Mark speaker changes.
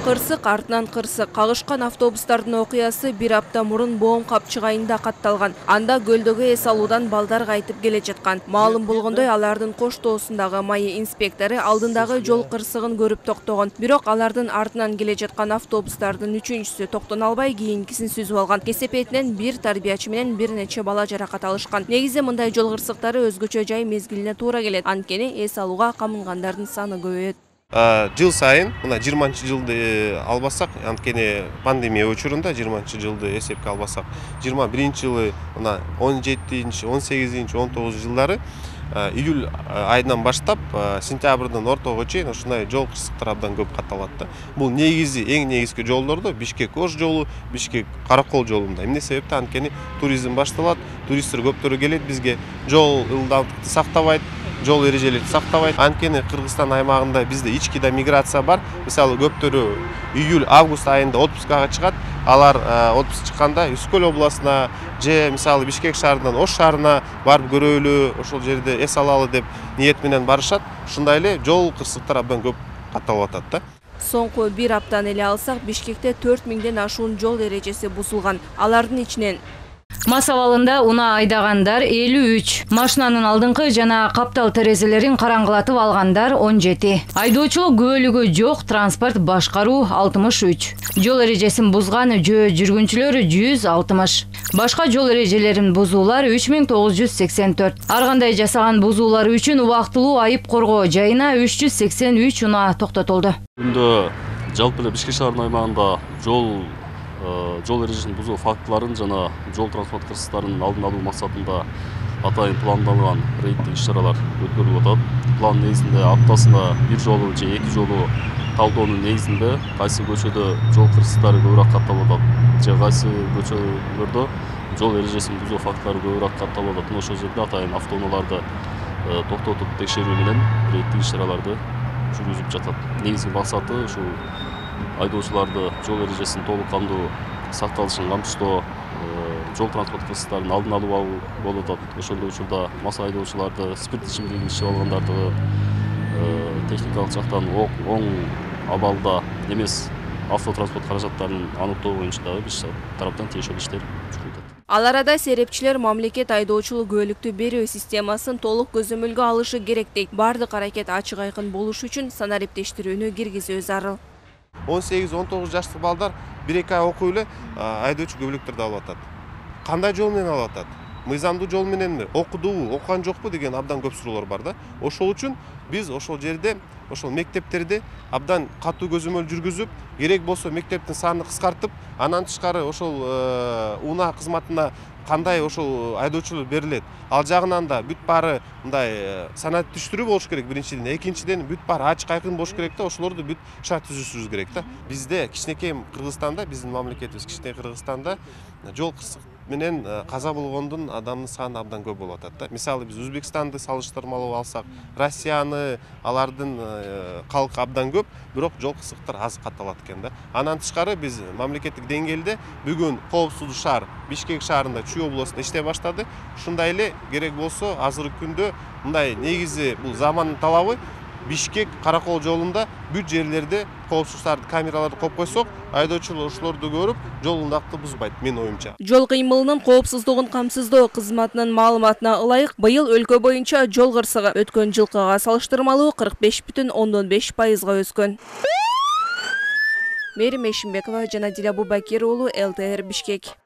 Speaker 1: Кырсык артынан кырсык. Кагышкан автобустардын окуясы бир апта мурун Боом капчык айында катталган. Анда көлдөгү эс алуудан балдар кайтып келе жаткан. Маалым болгондой, алардын кош тоосундагы майы инспектору алдындагы жол кырсыгын көрүп токтогон. Бирок алардын артынан келе жаткан автобустардын үчүнчүсү токтоно албай кийинкисин сүзүп алган. Кесепетинен бир тарбиячы менен бир нече бала жаракат алышкан. Негизи мындай жол кырсыктары өзгөчө жай мезгилине туура келет. Анткени эс алууга камынгандардын саны көбөйөт.
Speaker 2: Жыл сайын мына 20-жылды албасак, анткени пандемия учурунда 20-жылды эсепке албасак, 21-жылы мына 17-18, 19 жылдары июль айынан баштап сентябрдын ортого чейин ушундай жол кырсыктар абдан көп катталат да. Бул негизи эң негизги жолдордо Бишкек-Ош жолу, Бишкек-Каракол жолунда. Эмне себептен? Анткени туризм башталат, туристтер көптөрү келет бизге, жол ылдамдыкты сактабайт, жол эрежелерди сактабайт. Анткени Кыргызстан аймагында бизде ички да миграция бар. Мисалы көптөрү июль-август айында отпускага чыгат. Алар отпуск чыкканда Үскөл областына же мисалы Бишкек шаарынан Ош шаарына барып көрөлү, ошол жерде эс алалы деп ниет менен барышат. Ушундай эле жол кырсыктар абдан көп катталып атат да.
Speaker 1: Соңку бир аптаны эле алсак, Бишкекте 4000ден ашуун жол эрежеси бузулган. Алардын ичинен
Speaker 3: Мас абалында унаа айдагандар 53, машинанын алдыңкы жана каптал терезелерин караңгылатып алгандар 17, айдоочулук күбөлүгү жок транспорт башкаруу 63, жол эрежесин бузган жөө жүргүнчүлөр 160, башка жол эрежелерин бузуулар 3984, ар кандай жасаган бузуулар үчүн убактылуу айып коргоо жайына 383 унаа токтотулду.
Speaker 4: Күндө жалпы эле Бишкек шаарынын аймагында жол эрежесин бузуу фактыларын жана жол транспорт кырсыктарынын алдын алуу максатында атайын пландалган рейдтик иш-чаралар өткөрүлүп атат. План негизинде аптасына бир жолу же эки жолу талдоонун негизинде кайсы көчөдө жол кырсыктары көбүрөөк катталып атат же кайсы көчөлөрдө жол эрежесин бузуу фактылары көбүрөөк катталып атат. Ошол жерде атайын автоунааларды токтотуп текшерүү менен рейдтик иш-чараларды жүргүзүп жатат. Негизги максаты ушул айдоочуларды жол эрежесинин толук кандуу сакталышын камсыздоо, жол транспорт кырсыктарынын алдын алуу болуп атат. Ошол учурда мас айдоочуларды спирт ичимдигин ичип алгандарды техникалык жактан оң абалда эмес автотранспорт каражаттарын аныктоо боюнча дагы биз тараптан тиешелүү иштер жүрүп атат.
Speaker 1: Ал арада серепчилер мамлекет айдоочулук күбөлүктү берүү системасын толук көзөмөлгө алышы керек дейт. Бардык аракет ачык айкын болуш үчүн санариптештирүүнү киргизүү зарыл.
Speaker 2: 18-19 жаштык балдар 1-2 ай окуй эле айдоочу көбөлүктөрдү алып атат. Кандай жол менен алып атат? Мыйзамдуу жол мененби? Окудубу, окуган жокпу деген абдан көп суроолор бар да. Ошол үчүн биз ошол жерде, ошол мектептерде абдан катуу көзөмөл жүргүзүп, керек болсо мектептин санын кыскартып, анан тышкары ошол унаа кызматына кандай ошол айдоочулар берилет. Ал жагынан да бүт баары мындай санат түштүрүү болуш керек биринчиден, экинчиден бүт баары ачык айкын болуш керек да, ошолорду бүт шарт түзүшүбүз керек да. Бизде кичинекей Кыргызстанда, биздин мамлекетибиз кичинекей Кыргызстанда жол кырсык менен каза болгондун адамдын саны абдан көп болуп атат да. Мисалы биз Өзбекстанды салыштырмалуу алсак, Россияны, алардын калкы абдан көп, бирок жол кырсыктар аз катталат экен да. Андан тышкары биз мамлекеттик деңгээлде бүгүн коопсуздук шаар Бишкек шаарында Чүй областында иштей баштады. Ушундай эле керек болсо азыркы күндө мындай негизи бул замандын талабы Бишкек Каракол жолунда бүт жерлерде коопсуздук камераларды коюп койсок, айдоочулар ошолорду көрүп, жол ылдамдыкты бузбайт, менин оюмча.
Speaker 1: Жол кыймылынын коопсуздугун камсыздоо кызматынын маалыматына ылайык, быйыл өлкө боюнча жол кырсыгы өткөн жылкыга салыштырмалуу 45,5% өскөн. Мерим Эшимбекова жана Диле Абубакир уулу, ЛТР Бишкек.